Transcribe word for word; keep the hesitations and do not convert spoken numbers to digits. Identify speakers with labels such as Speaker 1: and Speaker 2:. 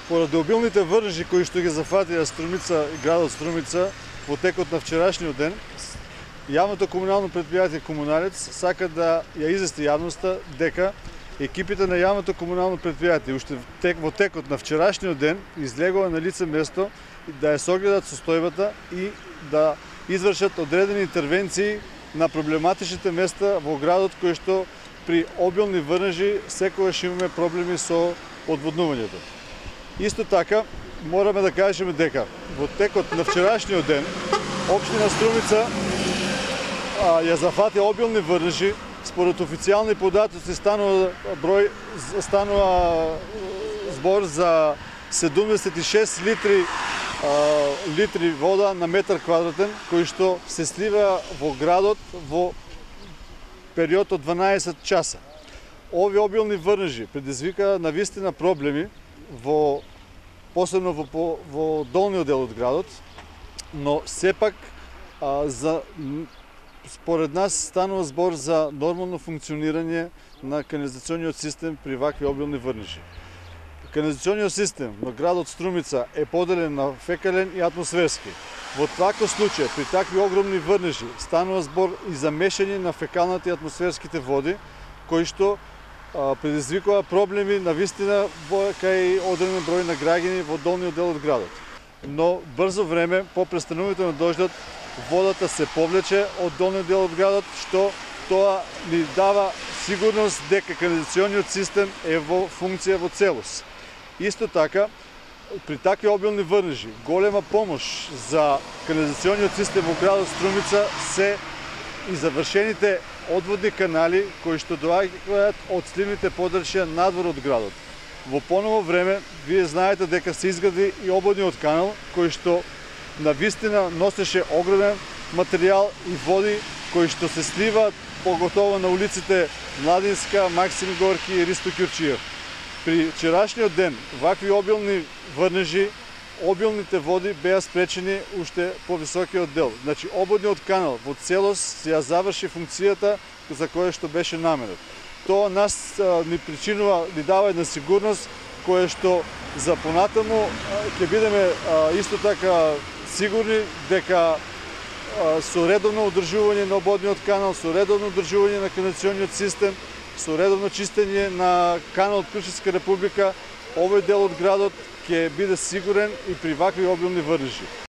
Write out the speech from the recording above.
Speaker 1: Поради обилните врнежи кои што ги зафатија Струмица и градот Струмица во текот на вчерашниот ден, јавното комунално претпријатие Комуналец сака да ја извести јавноста дека екипите на јавното комунално претпријатие уште во текот на вчерашниот ден излегува на лице место да ја согледат состојбата и да извршат одредени интервенции на проблематичните места во градот кои што при обилни врнежи секогаш имаме проблеми со одводнувањето. Исто така, мораме да кажеме дека во текот на вчерашниот ден општина Струмица а, ја зафати обилни врнежи. Според официјални податоци станува број станува збор за седумдесет и шест литри а, литри вода на метар квадратен кои што се слива во градот во период од дванаесет часа. Овие обилни врнежи предизвика навистина проблеми во посебно во, во долниот дел од градот, но сепак а, за според нас станува збор за нормално функционирање на канализациониот систем при вакви обилни врнежи. Канализациониот систем на градот Струмица е поделен на фекален и атмосферски. Во таков случај, при такви огромни врнежи, станува збор и за мешање на фекалната и атмосферските води, кои што а, предизвикува проблеми на вистина во кај одреден број на граѓани во долниот дел од градот. Но брзо време, по престанувањето на дождот, водата се повлече од долниот дел од градот, што тоа ни дава сигурност дека канализациониот систем е во функција во целост. Исто така, при такви обилни врнежи, голема помош за канализациониот систем во градот Струмица се и завршените одводни канали кои што доаѓаат од сливните подрачја надвор од градот. Во поново време, вие знаете дека се изгради и ободниот канал, кој што на вистина носеше огромен материјал и води кои што се сливаат поготово на улиците Младинска, Максим Горки и Ристо Ќурчиев. При вчерашниот ден вакви обилни врнежи, обилните води беа спречени уште по високиот дел. Значи ободниот канал во целост ја заврши функцијата за која што беше наменет. Тоа нас а, ни причинува, ни дава една сигурност која што за понатаму ќе бидеме а, исто така сигурни дека а, со редовно одржување на ободниот канал, со редовно одржување на канализациониот систем, со редовно чистење на канал од Кршевска република, овој дел од градот ќе биде сигурен и при вакви обилни врнежи.